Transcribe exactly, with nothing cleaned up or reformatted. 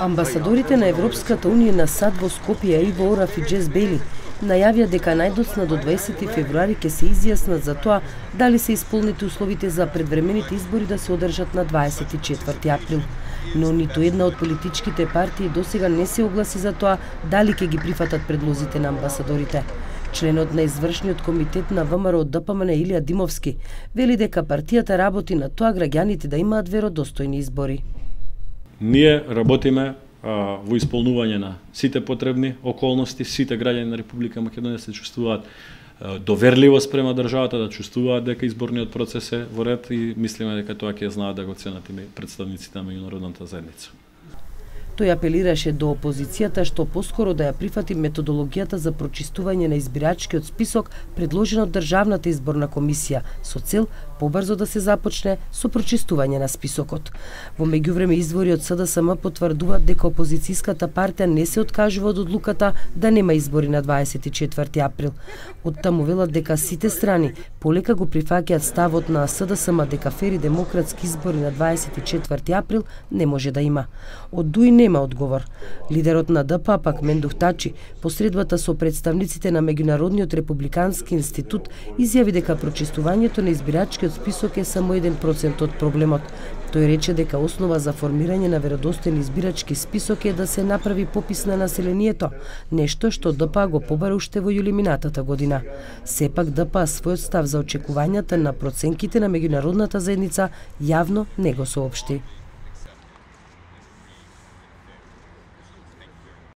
Амбасадорите на Европската унија на САД во Скопје Иво Ораф и Джес Бейли најавија дека најдоцна до дваесети февруари ќе се изјаснат за тоа дали се исполнети условите за предвремените избори да се одржат на дваесет и четврти април. Но ниту една од политичките партии досега не се огласи за тоа дали ќе ги прифатат предлозите на амбасадорите. Членот на извршниот комитет на ВМРО ДПМН Илија Димовски вели дека партијата работи на тоа граѓаните да имаат веродостојни избори. Ние работиме а, во исполнување на сите потребни околности, сите граѓани на Република Македонија се чувствуваат а, доверливо спрема државата, да чувствуваат дека изборниот процес е во ред и мислиме дека тоа ќе знаат да го ценат и представниците на меѓународната заедница. Тој апелираше до опозицијата што поскоро да ја прифати методологијата за прочистување на избирачкиот список предложена од Државната изборна комисија со цел побрзо да се започне со прочистување на списокот. Во меѓувреме извори од СДСМ потврдуваат дека опозицијската партија не се откажува од одлуката да нема избори на дваесет и четврти април. Од таму велат дека сите страни полека го прифаќаат ставот на СДСМ дека фери демократски избори на дваесет и четврти април не може да има. Од Дуи нема одговор. Лидерот на ДПА пак Мендух Тачи, посредбата со представниците на Меѓународниот републикански институт, изјави дека прочистувањето на избирачкиот список е само еден процент од проблемот. Тој рече дека основа за формирање на веродостоен избирачки список е да се направи попис на населението, нешто што ДПА го побара уште во јули минатата година. Сепак ДПА својот став за очекувањата на проценките на меѓународната заедница јавно не го соопшти.